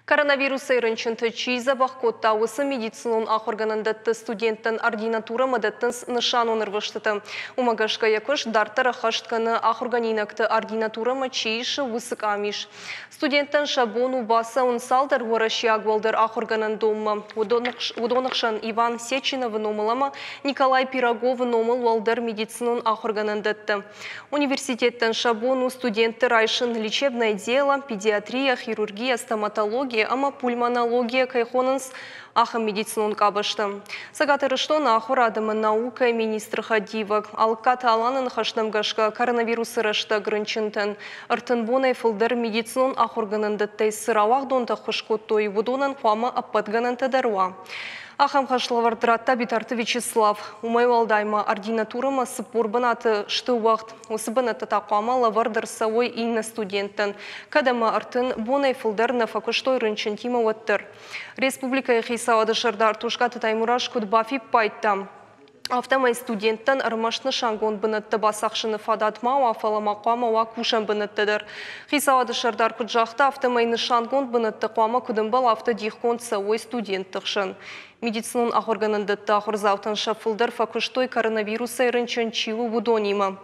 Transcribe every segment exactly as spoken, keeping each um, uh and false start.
Коронавирусӕй рынчынты чи дзӕбӕх кодта, уыцы медицинон ахуыргӕнӕндӕтты студенттӕн ординатурӕмӕ дӕттынц нысанон ӕрвыстытӕ. Уымӕ гӕсгӕ йӕ куыст дарддӕр ӕххӕст кӕны, ахуыргӕнинӕгты ординатурӕмӕ чи исы, уыцы къамис. Студенттӕн сӕ бон у бацӕуын цалдӕр уӕрӕсейаг уӕлдӕр ахуыргӕнӕндонмӕ. Уыдоны хсӕн Иван Сеченовы номыл ӕмӕ Николай Пироговы номыл уӕлдӕр медицинон ахуыргӕнӕндӕттӕ. Университеттӕн сӕ бон у студентты райсын лечебное дело, педиатрия, хирургия, стоматология ӕмӕ пульмонология кӕй хонынц, ахӕм медицинон къабӕзтӕ. Цӕгат Ирыстоны ахуырад ӕмӕ наукӕйы министры хӕдивӕг Алыккаты Аланы ныхӕстӕм гӕсгӕ, коронавирусы рӕстӕг рынчынтӕн ӕртын бонӕй фылдӕр медицинон ахуыргӕнӕндӕттӕй цы рауагъдонтӕ ӕххуыс кодтой, уыдонӕн хъуамӕ ӕппӕт гӕнӕнтӕ дӕр уа. Ахӕм хӕслӕвӕрд радта Битарты Вячеслав. Уымӕй уӕлдай ма ординатурӕмӕ цыппор бынаты сты уӕгъд. Уыцы бынӕттӕ та хъуамӕ лӕвӕрд ӕрцӕуой иннӕ студенттӕн, кӕд ӕмӕ ӕртын бонӕй фылдӕр нӕ фӕкуыстой рынчынтимӕ, уӕддӕр. Республикӕйы хицауады сӕрдар Тускъаты Таймураз куыд бафиппайдта, афтӕмӕй студенттӕн ӕрмӕст нысангонд бынӕттӕ бацахсыны фадат ма уа, фӕлӕ ма хъуамӕ уа кусӕн бынӕттӕ дӕр. Хицауады сӕрдар куыд загъта, афтӕмӕй нысангонд бынӕттӕ хъуамӕ куыд ӕмбӕлы, афтӕ дихгонд цӕуой студентты хсӕн. Медицинон ахуыргӕнӕндӕтты ахуырдзаутӕн сӕ фылдӕр фӕкуыстой, коронавирусӕй рынчын чи у, уыдонимӕ.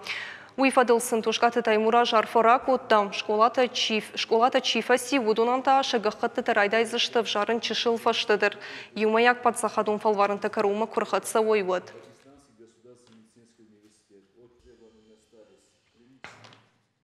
Уый фӕдыл сын Тускъаты Таймураз арфӕ ракодта. Скъолатӕ чи, скъолатӕ чи фӕци, уыдонӕн та сӕ гӕххӕттытӕ райдайдзысты ӕвзарын чысыл фӕстӕдӕр, иумӕйаг паддзахадон фӕлварӕнтӕ кӕронмӕ куы рхӕццӕ уой, уӕд.